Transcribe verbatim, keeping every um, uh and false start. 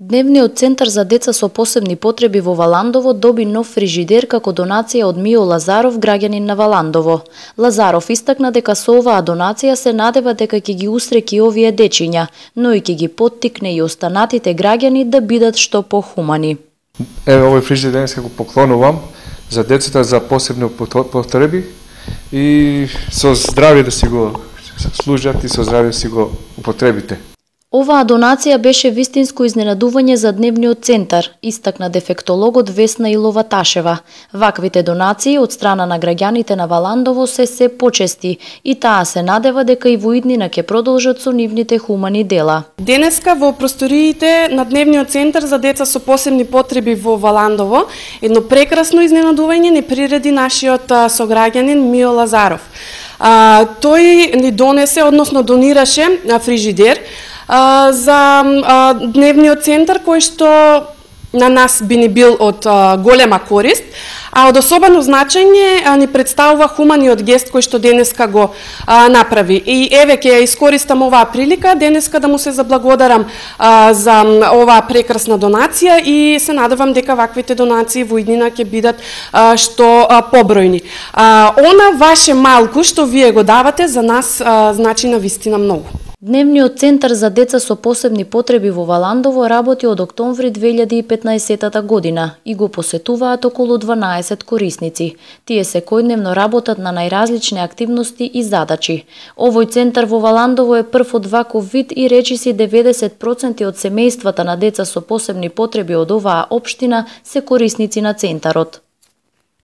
Дневниот центар за деца со посебни потреби во Валандово доби нов фрижидер како донација од Мио Лазаров, граѓанин на Валандово. Лазаров истакна дека со оваа донација се надева дека ќе ги устреки овие дечиња, но и ќе ги поттикне и останатите граѓани да бидат што похумани. Еве овој фрижидер денеска го поклонувам за децата за посебни потреби и со здравје да си го служат и со здравје си го употребите. Оваа донација беше вистинско изненадување за дневниот центар, истакна дефектологот Весна Илова-Ташева. Ваквите донации од страна на граѓаните на Валандово се се почести и таа се надева дека и во иднина ќе продолжат со нивните хумани дела. Денеска во просториите на дневниот центар за деца со посебни потреби во Валандово едно прекрасно изненадување ни приреди нашиот сограѓанин Мио Лазаров. А, тој ни донесе, односно донираше фрижидер за а, дневниот центар кој што на нас би ни бил од а, голема корист, а од особено значење а, ни представува хуманиот гест кој што денеска го а, направи. И еве ќе ја искористам оваа прилика денеска да му се заблагодарам а, за оваа прекрасна донација и се надевам дека ваквите донации во иднина ќе бидат а, што а, побројни. А, она ваше малку што вие го давате за нас а, значи на вистина многу. Дневниот центар за деца со посебни потреби во Валандово работи од октомври две илјади и петнаесетта година и го посетуваат околу дванаесет корисници. Тие секојдневно работат на најразлични активности и задачи. Овој центар во Валандово е прв од ваков вид и речиси деветдесет проценти од семејствата на деца со посебни потреби од оваа општина се корисници на центарот.